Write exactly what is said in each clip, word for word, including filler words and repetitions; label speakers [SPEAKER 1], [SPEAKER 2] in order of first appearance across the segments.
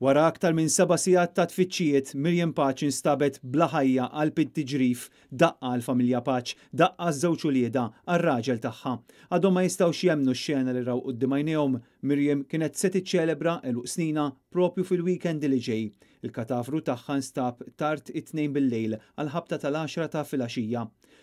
[SPEAKER 1] Wara aktar minn seba' sigħat ta' tfittxijiet, Miriam Pace instabet bla ħajja qalb it-tiġrif. Daqqa għall-familja Pace, daqqa għaż-żewġ uliedha, għar-raġel tagħha. Għadhom ma jistgħux jemmnu x-xena li raw quddiem għajnejhom. Miriam kienet se tiċċelebra għeluq sninha propju fil-weekend li ġej. Il-katafru tagħha nstab tard it-Tnejn bil-lejl għal-ħabta tal-għaxra ta' filgħaxija.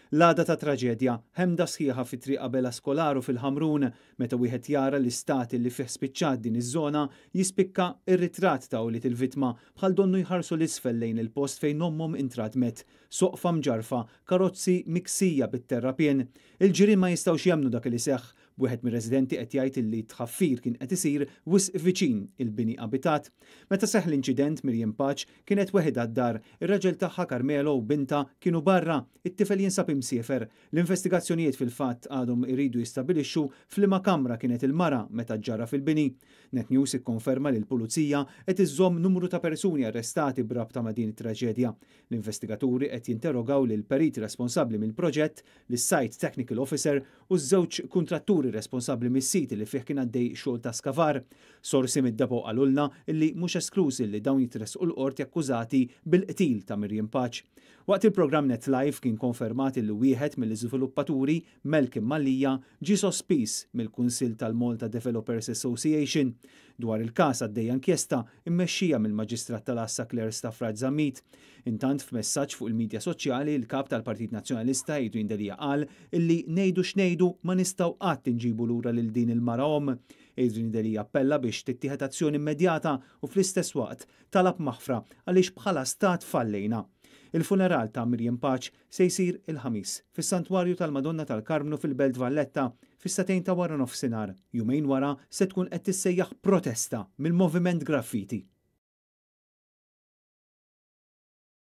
[SPEAKER 1] L-għada ta' traġedja, ħemda sħiħa fi Triq Abela Skolaru fil-Ħamrun, meta wieħed jara l-istat li fih spiċċat din iż-żona, jispikka ir-ritratt ta' ulied il-vittma bħal donnu jħarsu 'l isfel lejn il-post fejn ommhom intradmet. Soqfa mġarfa, karozzi miksija bit-terrapien. Il-ġirien ma jistgħux jemmnu dak li seħħ. Wieħed mir-residenti qed jgħid li tħaffir kien qed isir wisq viċin il-bini abitat. Meta seħħ l-inċident, Miriam Pace kienet weħidha d-dar, ir-raġel tagħha Carmelo u bintha kienu barra, it-tifel jinsab imsiefer. L-investigazzjonijiet fil-fatt għadhom iridu jistabilixxu f'liema kamra kienet il-mara meta ġarraf il-bini. Net News ikkonferma li l-pulizija qed iżżomm numru ta' persuni arrestati b'rabta ma' din it-traġedja. L-investigaturi qed jinterrogaw lil perit responsabbli mill-proġett, lis-Site Technical Officer u ż-żewġ kontratturi responsabbli mis-siti li fih kien għaddej xogħol ta' skavar. Sorsi mid-Depot qalulna illi mhux eskluż li dawn jitressqu l-qorti akkużati bil-qtil ta' Miriam Pace. Waqt il-programm Net Live kien konfermat li wieħed mill-iżviluppaturi, Malcolm Mallia, ġie sospiż mill-Kunsill tal-Malta Developers Association. Dwar il-każ għaddejja inkjesta immexxija mill-Maġistrat tal-Għassa Claire Stafrace Zammit. Intant, f'messaġġ fuq il-medja soċjali, il-kap tal-Partit Nazzjonalista Adrian Delia qal illi ngħidu x'ngħidu ma nistgħu qatt inġibu lura lil din il-mara omm. Adrian Delia appella biex tittieħed azzjoni immedjata u fl-istess waqt talab maħfra għaliex bħala stat fallejna. Il-funeral ta' Miriam Pace se jsir il-Ħamis fis-Santwarju tal-Madonna tal-Karmnu fil-Belt Valletta fis-sagħtejn ta' wara nofsinhar. Jumejn wara se tkun qed tissejjaħ protesta mill-Moviment Graffiti.